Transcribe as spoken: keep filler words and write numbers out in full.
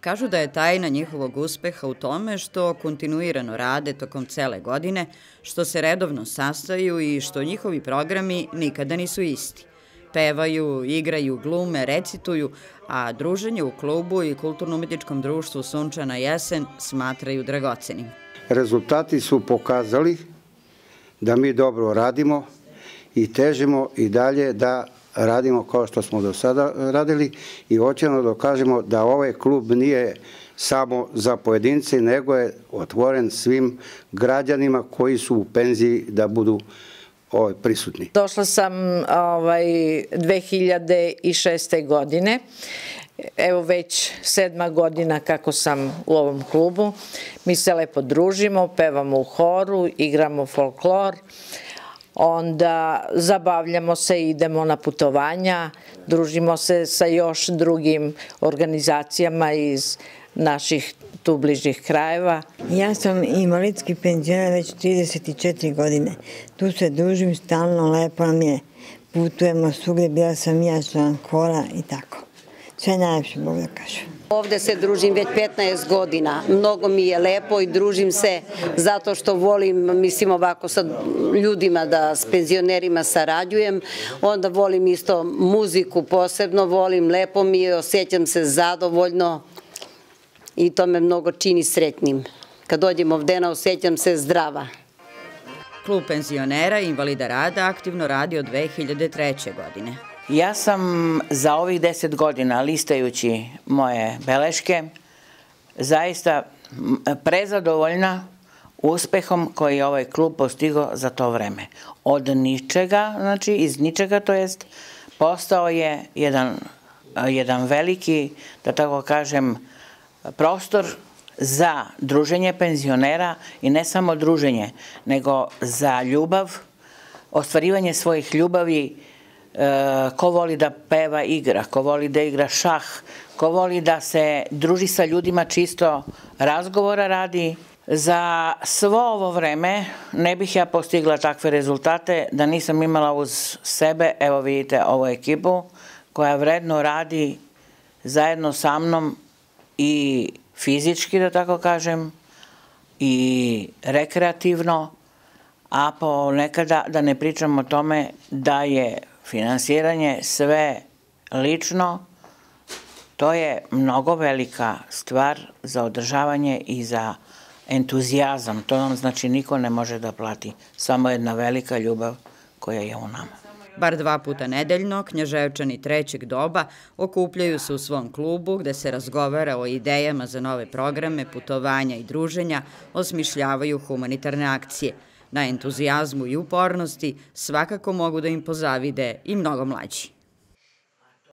Kažu da je tajna njihovog uspeha u tome što kontinuirano rade tokom cele godine, što se redovno sastaju i što njihovi programi nikada nisu isti. Pevaju, igraju, glume, recituju, a druženje u klubu i kulturno-umetničkom društvu Sunčana jesen smatraju dragocenim. Rezultati su pokazali da mi dobro radimo i težimo i dalje da radimo kao što smo do sada radili i hoćemo da dokažemo da ovaj klub nije samo za pojedince, nego je otvoren svim građanima koji su u penziji da budu prisutni. Došla sam dve hiljade šeste. godine. Evo već sedma godina kako sam u ovom klubu. Mi se lepo družimo, pevamo u horu, igramo folklor, onda zabavljamo se, idemo na putovanja, družimo se sa još drugim organizacijama iz naših tu bližih krajeva. Ja sam invalidski penzioner već trideset četiri godine. Tu se družim stalno, lepo nam je, putujemo svugde, bila sam ja član hora i tako. Sve najlepše, Bog da kažem. Ovde se družim već petnaest godina. Mnogo mi je lepo i družim se zato što volim, mislim ovako sa ljudima da s penzionerima sarađujem. Onda volim isto muziku posebno, volim, lepo mi je, osjećam se zadovoljno i to me mnogo čini sretnim. Kad dođem ovdena osjećam se zdrava. Klub penzionera i invalida rada aktivno radi od dve hiljade treće. godine. Ja sam za ovih deset godina, listajući moje beleške, zaista prezadovoljna uspehom koji je ovaj klub postigao za to vreme. Od ničega, znači iz ničega, to jest, postao je jedan, jedan veliki, da tako kažem, prostor za druženje penzionera i ne samo druženje, nego za ljubav, ostvarivanje svojih ljubavi. Ko voli da peva, igra, ko voli da igra šah, ko voli da se druži sa ljudima, čisto razgovora radi. Za svo ovo vreme ne bih ja postigla takve rezultate da nisam imala uz sebe, evo vidite ovu ekipu koja vredno radi zajedno sa mnom i fizički, da tako kažem, i rekreativno, a ponekada da ne pričam o tome da je finansiranje sve lično, to je mnogo velika stvar za održavanje i za entuzijazam. To nam znači niko ne može da plati, samo jedna velika ljubav koja je u nama. Bar dva puta nedeljno, Knjaževčani trećeg doba okupljaju se u svom klubu gde se razgovara o idejama za nove programe, putovanja i druženja, osmišljavaju humanitarne akcije. Na entuzijazmu i upornosti svakako mogu da im pozavide i mnogo mlađi.